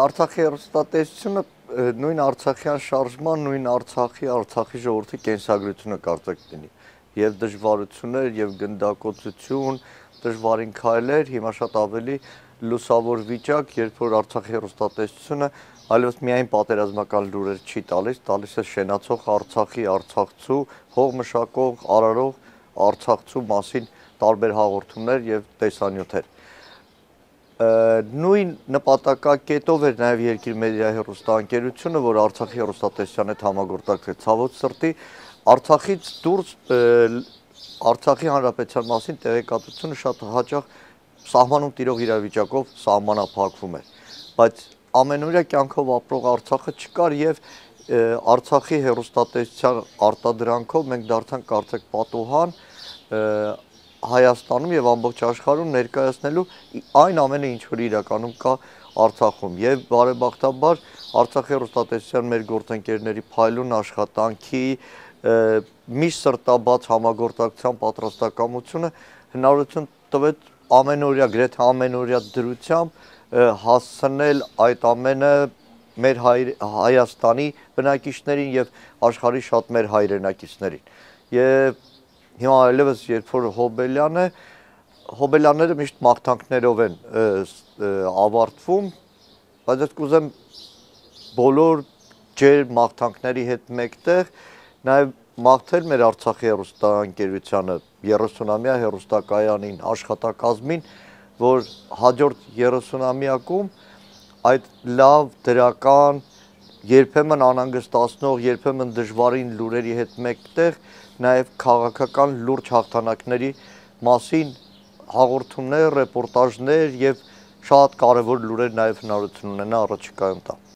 Արցախի հեռուստատեսությունը նույն Արցախյան շարժման, նույն Արցախի ժողովրդի կենսագրությունը կարծեք լինի։ Եվ դժվարություններ, եւ գնդակոծություն, դժվարին քայլեր, հիմա շատ ավելի լուսավոր վիճակ, երբ որ Արցախի հեռուստատեսությունը այլևս միայն պատերազմական լուրեր չի տալիս է շենացող Արցախի, արցախցու, հող մշակող, արարող Արցախցու մասին տարբեր հաղորդումներ եւ տեսանյութեր։ Նույն նպատակակետով էր նաև Երկիր մեդիա հեռուստաընկերությունը, որ Արցախի հեռուստատեսության հետ համագործակցեց։ Ցավոք սրտի Արցախից դուրս Արցախի հանրապետության մասին տեղեկատվությունը շատ հաճախ սահմանում տիրող իրավիճակով սահմանափակվում էր, բայց ամենօրյա կյանքով ապրող Արցախը չկար եւ Արցախի հեռուստատեսության արտադրանքով մենք դարձանք կարծեք պատուհան Հայաստանում եւ ամբողջ աշխարհում ներկայացնելու այն ամենը, ինչ որ իրականում կա Արցախում եւ բարեբախտաբար Արցախի հեռուստատեսության մեր գործընկերների փայլուն աշխատանքի միշտ սրտաբաց համագործակցության պատրաստակամությունը հնարավորություն տվեց ամենօրյա, գրեթե ամենօրյա դրությամբ հասցնել այդ ամենը մեր Հայաստանի բնակիչներին եւ աշխարհի շատ մեր հայրենակիցներին եւ հիմա այլևս երբ որ Հոբելյանները միշտ մաղթանքներով են ավարտվում, բայց ես կուզեմ բոլոր ջեր մաղթանքների հետ մեկտեղ նաև մաղթել մեր Արցախի հեռուստաընկերությանը 30-ամյա հեռուստակայանին, աշխատակազմին, որ հաջորդ 30-ամյակում այդ լավ դրական, երբեմն անհանգստացնող, երբեմն դժվարին լուրերի հետ մեկտեղ նաև քաղաքական լուրջ հաղթանակների մասին հաղորդումներ, ռեպորտաժներ եւ շատ կարեւոր լուրեր նաև հնարավորություն ունենա առաջիկայում տա։